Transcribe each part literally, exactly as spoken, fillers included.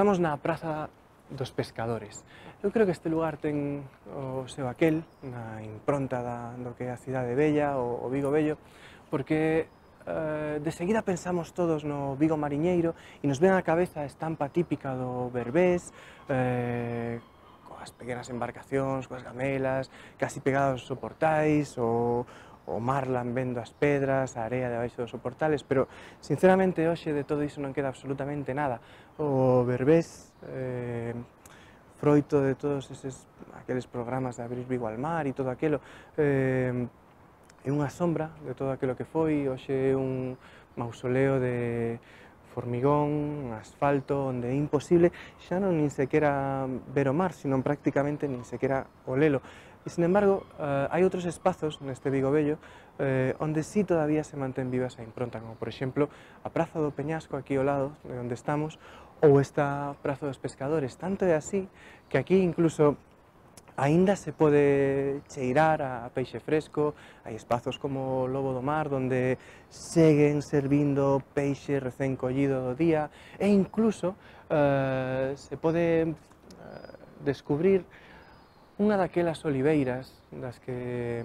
Estamos na Praza dos Pescadores. Eu creo que este lugar ten o seu aquel, na impronta da, do que é a cidade bella, o, o Vigo Bello, porque eh, de seguida pensamos todos no Vigo mariñeiro e nos ven á cabeza a estampa típica do Berbés, eh, coas pequenas embarcacións, coas gamelas, casi pegados aos soportais, o, o mar lambendo as pedras, a area debaixo dos soportales, pero sinceramente hoxe de todo iso non queda absolutamente nada. O Berbés, eh, froito de todos eses aqueles programas de Abrir Vigo al Mar e todo aquilo, eh, é unha sombra de todo aquilo que foi. Hoxe é un mausoleo de formigón, asfalto, onde é imposible xa non nin sequera ver o mar, sino prácticamente nin sequera olelo. E, sin embargo, eh, hai outros espazos neste Vigo Bello eh, onde sí todavía se mantén viva esa impronta, como por exemplo a Praza do Peñasco, aquí ao lado de onde estamos, ou esta Praza dos Pescadores. Tanto é así que aquí incluso aínda se pode cheirar a peixe fresco, hai espazos como o Lobo do Mar, onde seguen servindo peixe recén collido do día, e incluso eh, se pode eh, descubrir unha daquelas oliveiras das que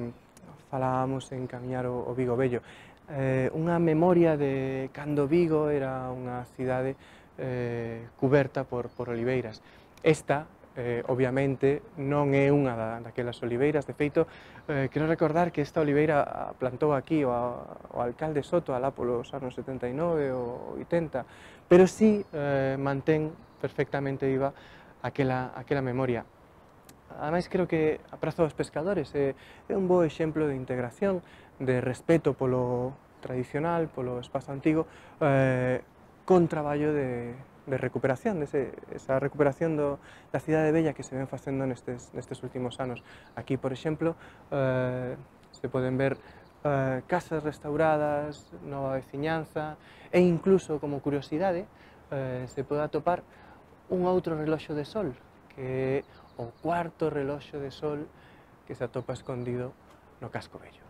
falábamos en camiñar o, o Vigo Bello, eh, unha memoria de cando Vigo era unha cidade eh, cuberta por, por oliveiras. Esta, eh, obviamente, non é unha da, daquelas oliveiras. De feito, eh, quero recordar que esta oliveira a plantou aquí o, o alcalde Soto alá polos anos setenta e nove ou oitenta, pero sí eh, mantén perfectamente viva aquela, aquela memoria. Ademais, creo que a Praza dos Pescadores é, é un bo exemplo de integración, de respeto polo tradicional, polo espazo antigo, eh, con traballo de, de recuperación, de ese, esa recuperación do, da cidade bella que se ven facendo nestes, nestes últimos anos. Aquí, por exemplo, eh, se poden ver eh, casas restauradas, nova veciñanza, e incluso, como curiosidade, eh, se pode atopar un outro reloxo de sol, que é o cuarto reloxo de sol que se atopa escondido no Casco Bello.